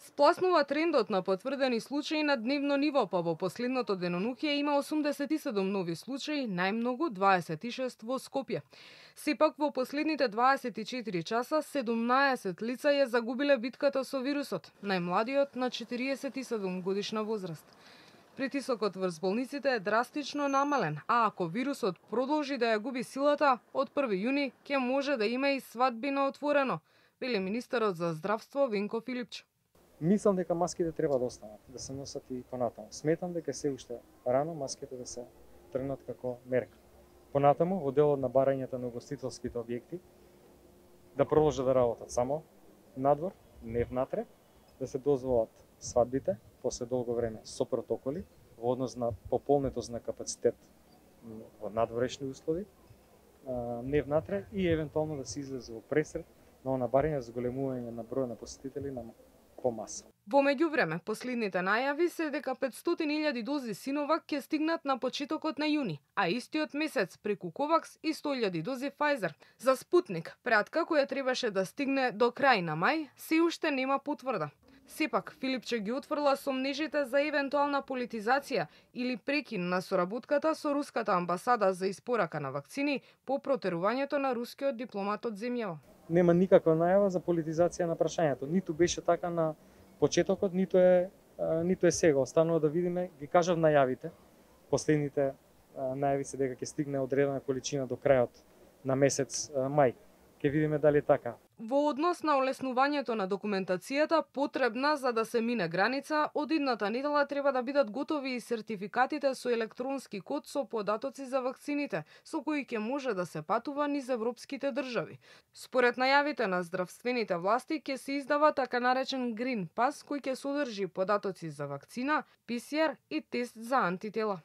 Спласнува трендот на потврдени случаи на дневно ниво, па во последното денонуќе има 87 нови случаи, најмногу 26 во Скопје. Сепак во последните 24 часа 17 лица ја загубиле битката со вирусот, најмладиот на 47 годишна возраст. Притисокот врз болниците е драстично намален, а ако вирусот продолжи да ја губи силата, од 1 јуни ќе може да има и свадби на отворено, вели министерот за здравство Венко Филипчо. Мислам дека маските треба да останат, да се носат и понатаму. Сметам дека се уште рано маските да се тргнат како мерка. Понатаму, во делот на барањата на угостителските објекти, да продолжат да работат само надвор, не внатре, да се дозволат свадбите после долго време со протоколи во однос на пополнетост на капацитет во надворешни услови, не внатре и евентуално да се излезе во пресред на она барање за зголемување на број на посетители на помаса. Во меѓувреме, последните најави се дека 500.000 дози Синовак ќе стигнат на почетокот на јуни, а истиот месец преку Ковакс и 100.000 дози Pfizer. За Спутник, пратка која требаше да стигне до крај на мај, се уште нема потврда. Сепак, Филипче ги отфрла сомнежите за евентуална политизација или прекин на соработката со руската амбасада за испорака на вакцини по протерувањето на рускиот дипломат од земјава. Нема никаква најава за политизација на прашањето. Ниту беше така на почетокот, ниту е сега. Останува да видиме, ги кажав најавите. Последните најави се дека ќе стигне одредена количина до крајот на месец мај. Ќе видиме дали е така. Во однос на олеснувањето на документацијата потребна за да се мине граница, од идната недела треба да бидат готови и сертификатите со електронски код со податоци за вакцините, со кои ќе може да се патува низ европските држави. Според најавите на здравствените власти ќе се издава така наречен Green Pass, кој ќе содржи податоци за вакцина, ПСР и тест за антитела.